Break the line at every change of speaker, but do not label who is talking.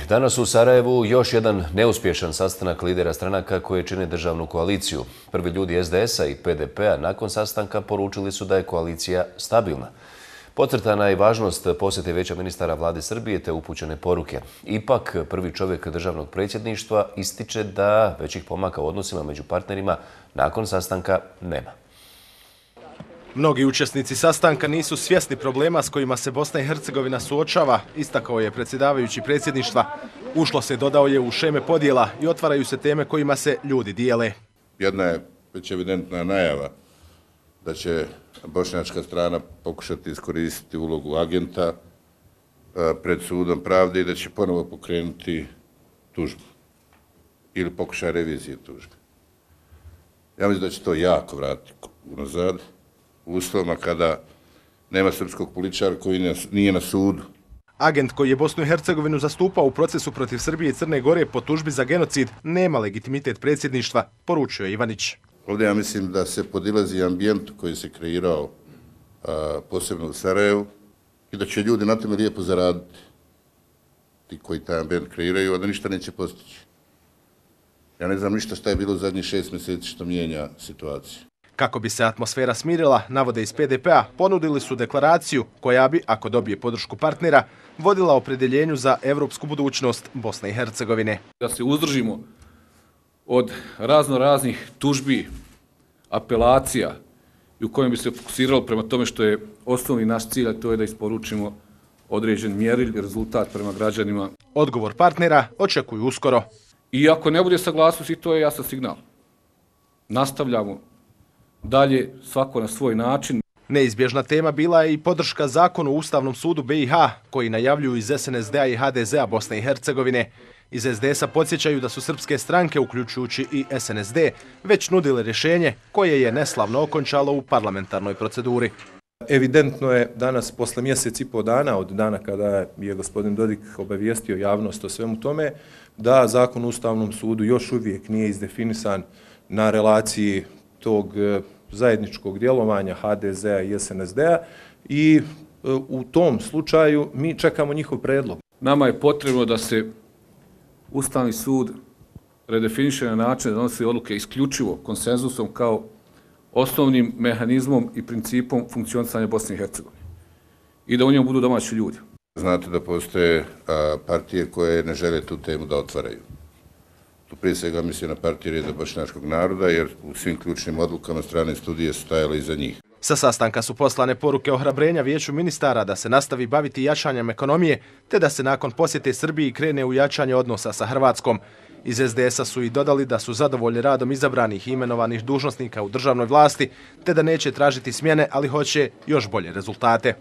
Danas u Sarajevu još jedan neuspješan sastanak lidera stranaka koje čine državnu koaliciju. Prvi ljudi SDS-a i PDP-a nakon sastanka poručili su da je koalicija stabilna. Podcrtana je i važnost posjete Vijeća ministara Vlade Srbije te upućene poruke. Ipak, prvi čovjek državnog predsjedništva ističe da većih pomaka u odnosima među partnerima nakon sastanka nema.
Mnogi učesnici sastanka nisu svjesni problema s kojima se Bosna i Hercegovina suočava, istakao je predsjedavajući predsjedništva. Ušlo se, dodao je, u šeme podjela i otvaraju se teme kojima se ljudi dijele.
Jedna je već evidentna najava da će bošnjačka strana pokušati iskoristiti ulogu agenta pred sudom pravde i da će ponovo pokrenuti tužbu ili pokušaj revizije tužbe. Ja mislim da će to jako vratiti unazad, u uslovima kada nema srpskog političara koji nije na sudu.
Agent koji je Bosnu i Hercegovinu zastupao u procesu protiv Srbije i Crne Gore po tužbi za genocid nema legitimitet predsjedništva, poručio je Ivanić.
Ovdje ja mislim da se podilazi ambijent koji se kreirao posebno u Sarajevu i da će ljudi na tome lijepo zaraditi, ti koji taj ambijent kreiraju, a da ništa neće postići. Ja ne znam ništa šta je bilo u zadnjih 6 mjeseci što mijenja situaciju.
Kako bi se atmosfera smirila, navode iz PDP-a, ponudili su deklaraciju koja bi, ako dobije podršku partnera, vodila opredjeljenju za evropsku budućnost Bosne i Hercegovine.
Da se uzdržimo od raznih tužbi, apelacija i u kojem bi se fokusiralo prema tome što je osnovni naš cilj, a to je da isporučimo određen mjerilj, rezultat prema građanima.
Odgovor partnera očekuju uskoro.
I ako ne bude saglasnosti, to je jasan signal. Nastavljamo dalje, svako na svoj način.
Neizbježna tema bila je i podrška zakonu u Ustavnom sudu BiH, koji najavljuju iz SNSD-a i HDZ-a Bosne i Hercegovine. Iz SDS-a podsjećaju da su srpske stranke, uključujući i SNSD, već nudile rješenje koje je neslavno okončalo u parlamentarnoj proceduri.
Evidentno je danas, posle mjesec i pol dana od dana kada je gospodin Dodik obavijestio javnost o svemu tome, da zakon u Ustavnom sudu još uvijek nije izdefinisan na relaciji tog zajedničkog djelovanja HDZ-a i SNSD-a i u tom slučaju mi čekamo njihov predlog.
Nama je potrebno da se Ustavni sud redefiniše na način da donosi odluke isključivo konsenzusom kao osnovnim mehanizmom i principom funkcionisanja Bosne i Hercegovine i da u njemu budu domaći ljudi.
Znate da postoje partije koje ne žele tu temu da otvaraju. Tu prije svega misli na partije Reda bošnjačkog naroda, jer u svim ključnim odlukama strane studije su stajale iza njih.
Sa sastanka su poslane poruke ohrabrenja Vijeću ministara da se nastavi baviti jačanjem ekonomije, te da se nakon posjete Srbiji krene u jačanje odnosa sa Hrvatskom. Iz SDS-a su i dodali da su zadovoljni radom izabranih i imenovanih dužnosnika u državnoj vlasti, te da neće tražiti smjene, ali hoće još bolje rezultate.